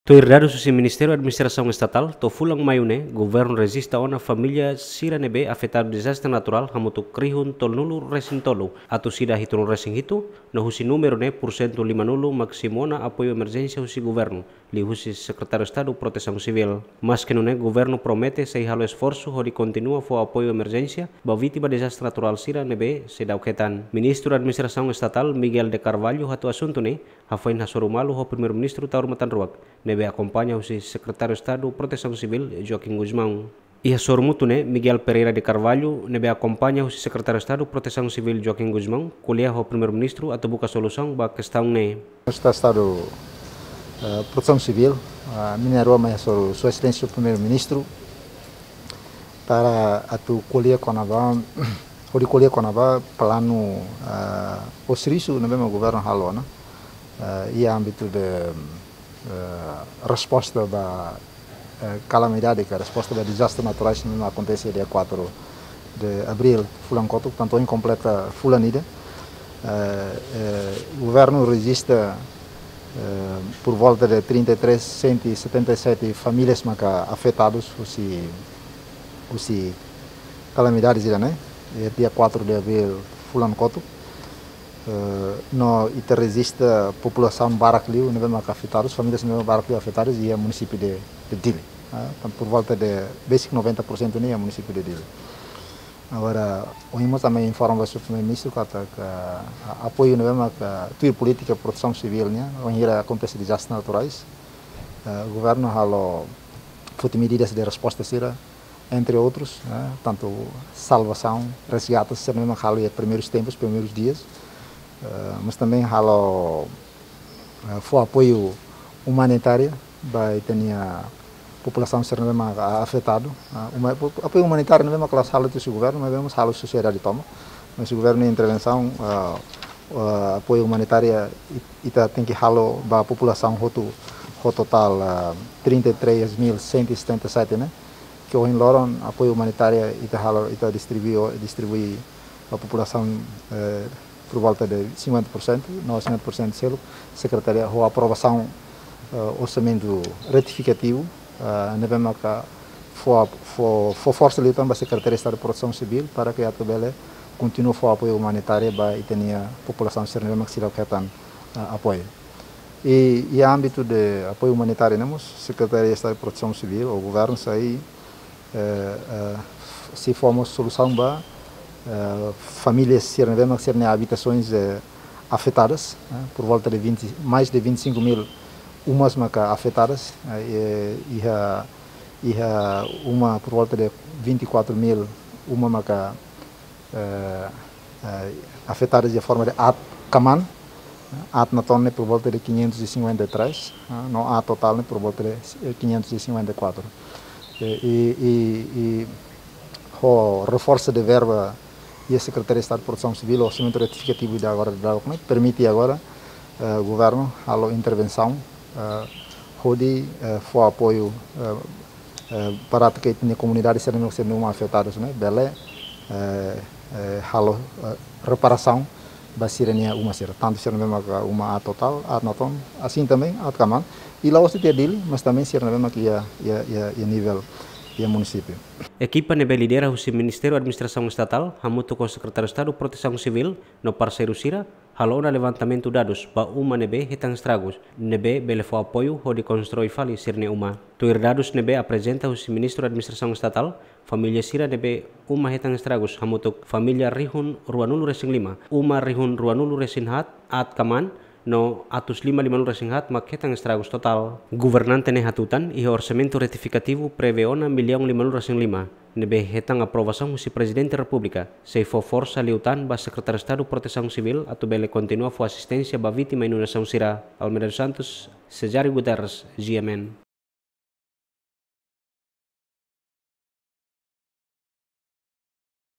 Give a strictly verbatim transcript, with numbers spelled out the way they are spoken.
Tuir dadus husi Ministériu Administrasaun Estatál, to'o fulan Maiu ne'e, governu rejista ona família sira ne'ebé afetadu dezastre naturál hamutuk rihun tolunulu resin tolu, atus ida hitunulu resin hitu, no husi númeru ne'e pursentu limanulu mak simu ona apoiu emerjénsia husi governu, liuhusi Sekretáriu Estadu Protesaun Sivíl. Maske nune'e, governu promete sei halo esforsu hodi kontinua fó apoiu emerjénsia ba vítima dezastre naturál sira ne'ebé seidauk hetan. Ministru Administrasaun Estatál Miguel de Carvalho hato'o asuntu ne'e hafoin hasoru malu ho Primeiru-Ministru Taur Matan Ruak, ne'ebé akompaña husi Sekretáriu Estadu Protesaun Sivíl Joaquim Gusmão. Iha sorumutu ne'e, Miguel Pereira de Carvalho, ne'ebé akompaña husi Sekretáriu Estadu Protesaun Sivíl Joaquim Gusmão, ko'alia ho Primeiru-Ministru atu buka solusaun ba kestaun ne'e. Esta Estadu, eh, Protesaun Sivíl, ah, mina rua mai hasoru Sua Exelénsia Primeiru-Ministru, para atu ko'alia kona-ba, hodi ko'alia kona-ba planu, ah, ou servisu ne'ebé mak governu halo ona, ah, iha ámbitu de, eh, resposta ba, eh, kalamidade, ka resposta ba dezastre naturais ne'ebé akontese dia quatro de abril, fulan kotuk, tantu ohin kompleta fulan ida. Eh, eh, governu rejista, eh, por volta de trinta e três, cento e setenta e sete famílias maka afetadus husi, husi kalamidade sira-ne'e, eh, dia quatro de abril, fulan kotuk. Eh, no ita rejista populasaun barak liu ne'ebé maka afetadus, famílias ne'ebé barak liu afetadus iha munisípiu de, de Dili. Ah, tan por volta de besik noventa por cento ne'e iha munisípiu de Dili. Agora, ohin mós ami informa ba Sua Primeiru-Ministru katak, ah, apoiu ne'ebé maka tuir polítika protesaun sivíl nian, wainhira akontese dezastre naturais, eh, governu halo foti medidas de resposta sira, entre outros, eh, tantu salvasaun, resgate, sira ne'ebé mak halo iha primeirus tempus, primeirus dias, eh, mas também halo, eh, fó apoiu umanitáriu ba ita-nia populasaun sira ne'ebé mak afetadu. Ah, uma-, apoiu umanitáriu ne'ebé mak la'ós halo husi governu, maibé mós halo sosiedade tomak. Mas governu intervensaun, ah, ah, apoiu umanitáriu it-, ita tenke halo ba populasaun hotu, ho totál, ah, trinta e três mil cento e setenta e sete ne'e, ke ohin loron apoiu umanitáriu ita halo, ita distribui, distribui ba populasaun, eh, por volta de cinquenta por cento, no cinquenta por cento seluk, sekretaria ho aprovasaun, eh, orsamentu retifikativu, eh, ne'ebé maka fó, fó, fó forsa liután ba Sekretaria Estadu Protesaun Sivíl para ke atu bele kontinua fó apoiu umanitáriu ba ita-nia populasaun sira ne'ebé mak seidauk hetan, eh, apoiu. I, iha ámbitu de apoiu umanitáriu ne'e mós, Sekretaria Estadu Protesaun Sivíl ou governu sei, eh, eh, sei fó mós solusaun ba, eh, famílias sira ne'ebé mak sira-nia abitasoens, eh, afetadas, eh, por volta de vinte, mais de vinte e cinco mil umas maka afetadas, eh, iha, iha uma por volta de vinte e quatro mil uma maka, eh, eh, afetadas de forma de aat kaman, aat-na'atoon ne'e por volta de quinhentos e cinquenta e três, ah, no aat totál ne'e por volta de, eh, quinhentos e cinquenta e quatro. Eh, i, i, i ho reforsu de verba iha Sekretaria Estadu Protesaun Sivíl, orsamentu retifikativu ida agora daudaun ne'e permite agora, eh, governu halo intervensaun, eh, hodi, eh, fó apoiu, eh, eh, para atu ke ita-nia komunidade sira ne'ebé mak sira-nia uma afetadus ne'e bele, eh, eh, halo, eh, reparasaun ba sira-nia uma sira. Tantu sira ne'ebé maka uma aat totál, aat-na'atoon, asin também aat kaman. I la'ós de'it iha Dili, mas também sira ne'ebé maka iha, iha, iha, iha nivel, iha munisípiu. Ekipa ne'ebé lidera husi Ministériu Administrasaun Estatál, hamutuk ho Sekretáriu Estadu Protesaun Sivíl, no parseiru sira, halo ona levantamentu dadus ba uma ne'ebé hetan estragus, ne'ebé bele fó apoiu hodi konstrui fali sira-nia uma. Tuir dadus ne'ebé aprezenta husi Ministru Administrasaun Estatál, família sira ne'ebé uma hetan estragus hamutuk família rihun ruanulu resin lima, uma rihun ruanulu resin haat, aat kaman, no atus lima limanulu resin haat mak hetan estragus totál. Governante ne'e hatutan, iha orsamentu retifikativu prevee ona millaun limanulu resin lima, ne'ebé hetan aprovasaun husi Prezidente Repúblika, sei fó forsa liután ba Sekretáriu Estadu Protesaun Sivíl atu bele kontinua fó asisténsia ba vítima inundasaun sira. Almeida dos Santos, Cesário Guterres, G M N.